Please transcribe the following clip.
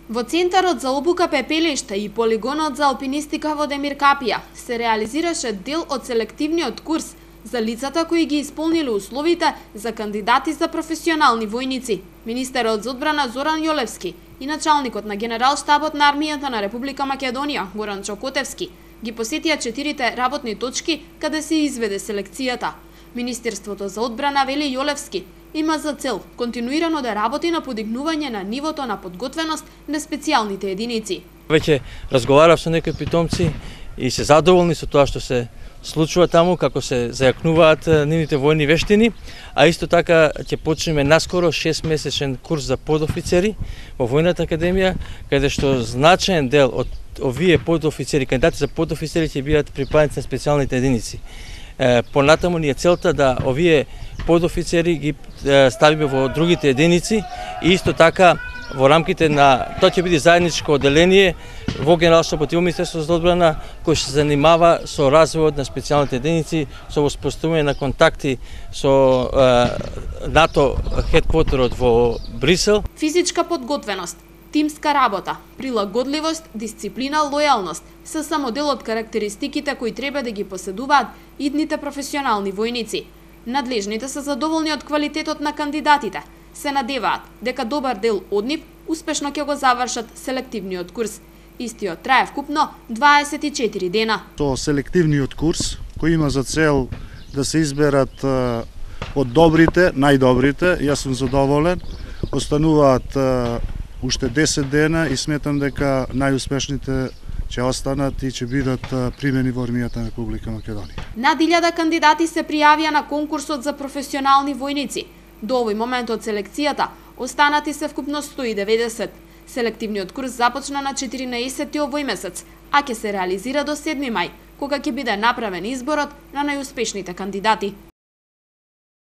Во Центарот за обука пепелишта и полигонот за алпинистика во Демир Капија се реализираше дел од селективниот курс за лицата кои ги исполниле условите за кандидати за професионални војници. Министерот за одбрана Зоран Јолевски и началникот на Генерал-штабот на армијата на Република Македонија Горан Чокотевски ги посетија 4 работни точки каде се изведе селекцијата. Министерството за одбрана, вели Јолевски, има за цел континуирано да работи на подигнување на нивото на подготвеност на специјалните единици. Веќе разговарав со некои питомци и се задоволни со тоа што се случува таму, како се зајакнуваат нивните војни вештини, а исто така ќе почнеме наскоро 6-месечен курс за подофицери во Војната академија, каде што значаен дел од овие подофицери, кандидати за подофицери ќе бидат припајаници на специјалните единици. Понатаму ни е целта да овие подофицери ги ставиме во другите единици и исто така во рамките на тоа ќе биде заедничко одделение во Генерал-штабот и во Министерството за одбрана кој се занимава со развојот на специјалните единици, со воспоставување на контакти со НАТО хедквотерот во Брисел. Физичка подготвеност, тимска работа, прилагодливост, дисциплина, лојалност се само дел од карактеристиките кои треба да ги поседуваат идните професионални војници. Надлежните се задоволни од квалитетот на кандидатите. Се надеваат дека добар дел од нив успешно ќе го завршат селективниот курс. Истиот трае вкупно 24 дена. Со селективниот курс, кој има за цел да се изберат од добрите, најдобрите, јас сум задоволен. Остануваат уште 10 дена и сметам дека најуспешните ќе останат и ќе бидат примени во армијата на Република Македонија. Над 1000 кандидати се пријавија на конкурсот за професионални војници. До овој момент од селекцијата останати се вкупно 190. Селективниот курс започна на 14 овој месец, а ќе се реализира до 7 мај, кога ќе биде направен изборот на најуспешните кандидати.